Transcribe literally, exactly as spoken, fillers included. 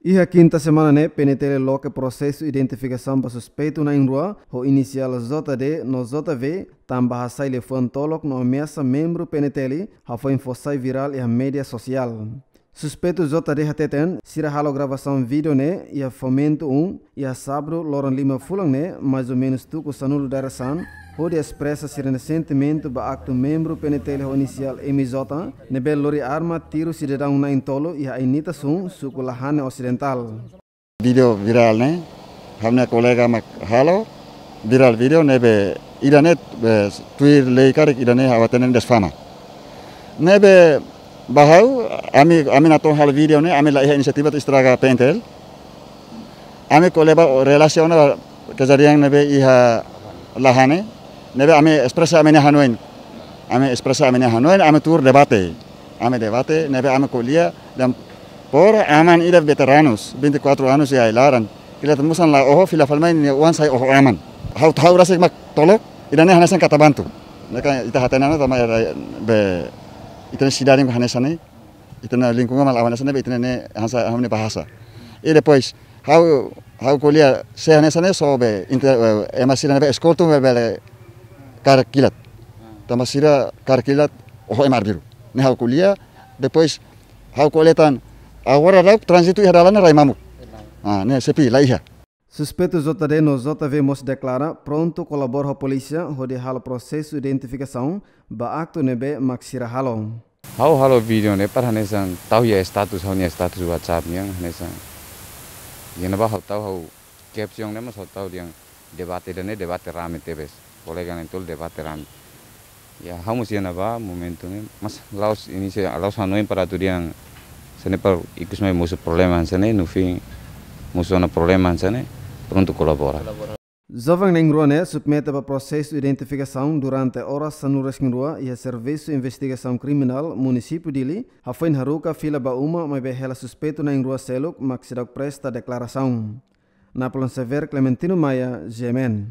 Iha kinta semana ne'e, P N T L loke prosesu identifikasaun ba suspeitu na'in-rua ho inisiál J D no J V, tanba hasai liafuan tolok no ameasa membru P N T L, hafoin fó sai virál iha média sosiál. Suspeitu J D hateten, sira halo gravasaun vídeo ne'e iha Fomento um, iha sábadu loron lima fulan ne'e, mais ou menus tuku sanulu dadeer-saan, hodi espresa sira-nia sentimentu ba aktu membru P N T L ho inisiál M J, ne'ebé lori arma tiru sidadaun na'in-tolu iha Ainitas um, suku Lahane Osidentál. Vídeo virál ne'e, ha'u-nia kolega mak halo, virál vídeo ne'ebé ida-ne'e, eh, tuir lei karik ida-ne'e ha'u hatene desfama. Ne'ebé ba ha'u, ami, ami natoon halo vídeo ne'e, ami la iha inisiativa atu estraga P N T L. Ami ko'alia ba relasiona kejadian ne'ebé iha Lahane, ne'ebé ami espresa ami-nia hanoin. Ami espresa ami-nia hanoin, ami tuur debate. Ami debate, ne'ebé ami ko'alia, dehan por aman ida veteranus, vinte e quatro anos iha ai-laran. Kilat musan la oho, fila fali mai nia oan sai oho aman. Ha'u, ha'u rasik mak tolok, ida-ne'e hanesan kata bantu. Ne'e kan ita hatene ona tanba era be, ita-nia sidade hanesan ne'e, ita-nia lingkungan mak hanesan ne'e, be ita-nia hanesan ha'u-nia bahasa. I depois, ha'u, ha'u ko'alia, se hanesan ne'e só be, inte-, eh, ema sira ne'ebé eskoltu be bele kaer kilat. Tanba sira kaer kilat, oho ema arbiru. Ne'e ha'u ko'alia, depois, ha'u ko'alia tan, agora daudaun tránzitu iha dalan ne'e rai mamuk. Ah, ne'e sepi, la iha. Suspeitu J D no J V mós deklara prontu kolabora ho polísia hodi halo prosesu identifikasaun ba aktu ne'ebé mak sira halo. Ha'u halo vídeo ne'e para hanesan tau iha status, ha'u-nia status WhatsApp nian hanesan. Iha ne'ebá ha'u tau, ha'u caption ne'e mós ha'u tau dehan debate ida-ne'e debate rame tebes. Kolega na'in-tolu debate rame. Ya, ha'u mós iha ne'ebá momentu ne'e, mas la'ós inisia, la'ós hanoin para atu dehan hanesan ne'e para ikus mai mosu problema hanesan ne'e, no fim mosu ona problema hanesan ne'e, prontu kolabora. Joven na'in-rua ne'e submete ba prosesu identifikasaun durante oras sanulu-resin-rua iha Servisu Investigasaun Kriminál Munisípiu Dili, hafoin haruka fila ba uma maibé hela suspeitu na'in-rua seluk mak seidauk presta deklarasaun. Napoleon Xavier, Clementino Maia, G M N.